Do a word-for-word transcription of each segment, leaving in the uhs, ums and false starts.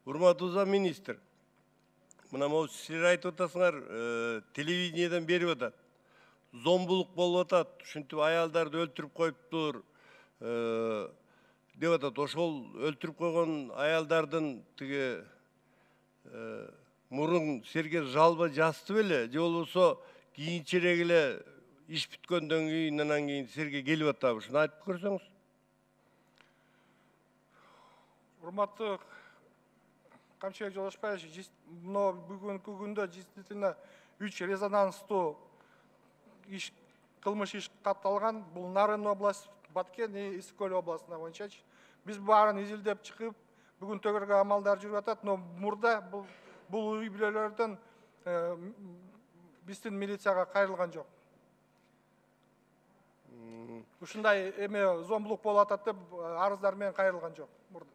Урматтуу замминистр, мына могу силер айтып атасыңар, телевидениеден берип атат. Зомбулук болуп атат, ушинтип аялдарды өлтүрүп коюптур деп атат. Ошол өлтүрүп койгон аялдардын тиги мурун силерге жалба жазды беле, же болбосо кийинчерээк эле иш бүткөндөн кийин анан кийин силерге келип атабы? Ушуну айтып көрсөңүз. Урматтуу Камчыбек Жолдошбаевич, но бүгүнкү күндө действительно үч резонанстуу иш кылмыш иш катталган. Бул Нарын область, Баткен и Ысык Көл областына боюнча. Биз баарын изилдеп чыгып, бүгүн төгөргө амалдар жүрүп атат, но мурда бул бул үй бүлөлөрдөн биздин милицияга кайрылган жок. Ушундай эме зомбулук болуп атат деп арыздар менен кайрылган жок мурда.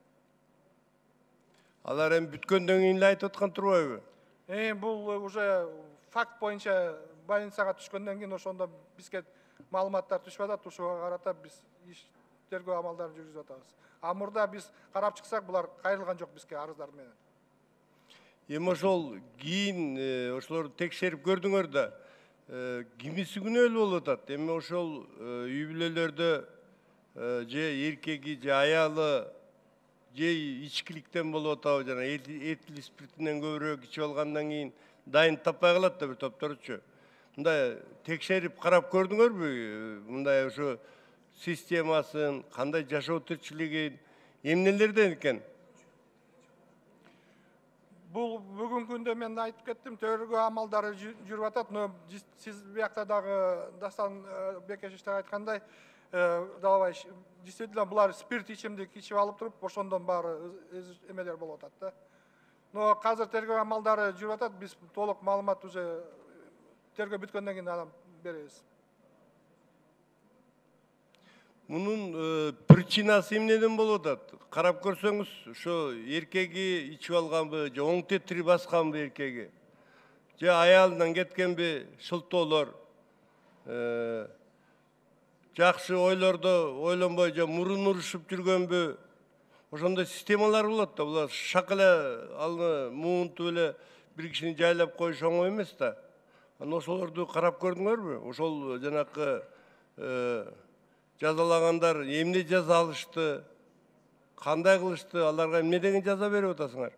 Алар эми бүткөндөн кийин эле айтып аткан турбайбы? Э, бул уже факт боюнча больницага түшкөндөн кийин ошондо бизге маалыматтар түшүп атат, ушуга карата биз иш тергөө амалдарын жүргүзүп атабыз. А мурда биз карап чыксак, булар кайрылган жок бизге арыздар менен. Эми ошол кийин ошолорду текшерип көрдүңөр да, кимиси күнөөлүү болуп атат? Эми ошол үй бүлөлөрдө же эркеги же аялы же ичкиликтен болуп атабы, жана этил спиртинен көбүрөөк ичип алгандан кийин дайын таппай калат да бир топторучу. Мындай текшерип карап көрдүңөрбү? Мындай ошо системасын, кандай жашоо тирчилигин, эмнелерден экен? Бул бүгүнкү күндө мен айтып кеттим, тергөө амалдары жүрүп атат, но сиз биякта дагы Дастан Бекешевич айткандай, Далабаевич, действительно булар спирт ичимдик ичип алып туруп, ошондон баары эмелер болуп атат да. Но азыр тергөө амалдары жүрүп атат, биз толук маалымат уже тергөө бүткөндөн кийин анан беребиз. Мунун причинасы эмнеден болуп атат? Карап көрсөңүз, ошо эркеги ичип алганбы, же оң тетири басканбы эркеги, же аялынан кеткенби шылтоолор, жакшы ойлордо ойлонбой же мурун урушуп жүргөнбү? Ошондой системалар болот да, булар шак эле аны муунтуп эле бир кишини жайлап коюш оңой эмес да. Анан ошолорду карап көрдүңөрбү? Ошол жанакы жазалагандар эмне жаза алышты, кандай кылышты, аларга эмне деген жаза берип атасыңар?